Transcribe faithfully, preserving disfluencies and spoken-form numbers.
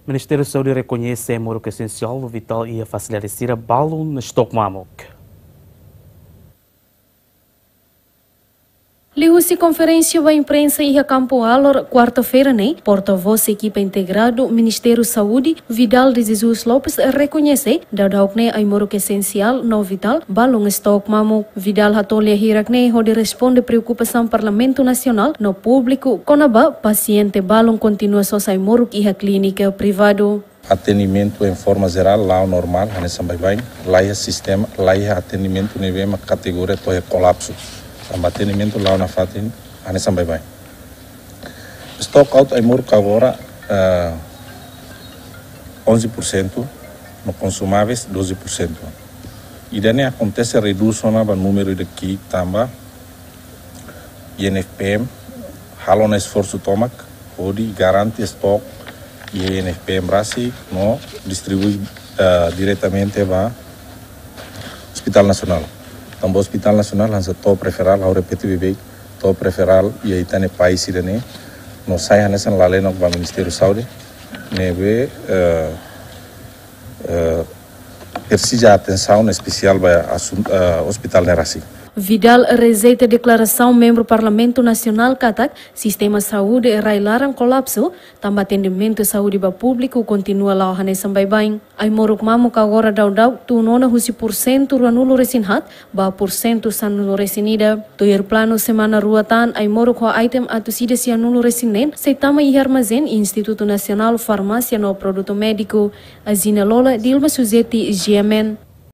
Ministériu Saúde rekoñese ai-moruk esensiál no vitál iha fasilidade sira balun no estok mamuk. Liuhusi konferénsia ba imprensa iha Kampu Alor, kuarta-feira ne'e, porta-vós ekipa integradu Ministériu Saúde, Vidal de Jesus Lopes, rekoñese daudauk ne'e ai-moruk esensiál no vitál balun estok mamuk. Vidal hato'o lia hirak ne'e hodi responde preokupasaun Parlamentu Nasionál no públiku kona-ba pasiente balun kontinua sosa ai-moruk iha klínika privadu. Atendimentu em forma geral la'o normál, hanesan baibain. Laiha sistema, laiha atendimentu ne'ebé mak kategoria to'o iha kolapsu. Tanba atendimentu la'o nafatin, hanesan baibain. Stock out ai-moruk agora, eh, onze por cento, no consumáveis doze por cento. Ida-ne'e akontese redús ona ba númeru ida ki'ik tanba I N F P M halo ona esforsu tomak hodi garante stock iha I N F P M rasik no distribui, eh, diretamente ba Hospital Nasionál. Tanba Hospital Nasionál hanesan top referral, ha'u repete beibeik, top referral iha ita-nia país ida-ne'e, no sai hanesan lalenok ba Ministériu Saúde, ne'ebé, eh, eh, presiza atensaun espesiál ba asun-, eh, hospital ne'e rasik. Vidal rejeita deklarasaun membru Parlamentu Nasionál katak sistema saúde rai-laran kolapsu, tanba atendimentu saúde ba públiku kontinua la'o hanesan baibain. Ai-moruk mamuk agora daudauk tun ona husi porsentu ruanulu-resin-haat ba porsentu sanulu-resin-ida. Tuir planu semana rua tan ai-moruk ho item atus ida sianulu-resin-neen sei tama iha armazén Institutu Nasionál Farmásia no Produtu Médiku. Azina Lola, Dilma Suzeti, G M N.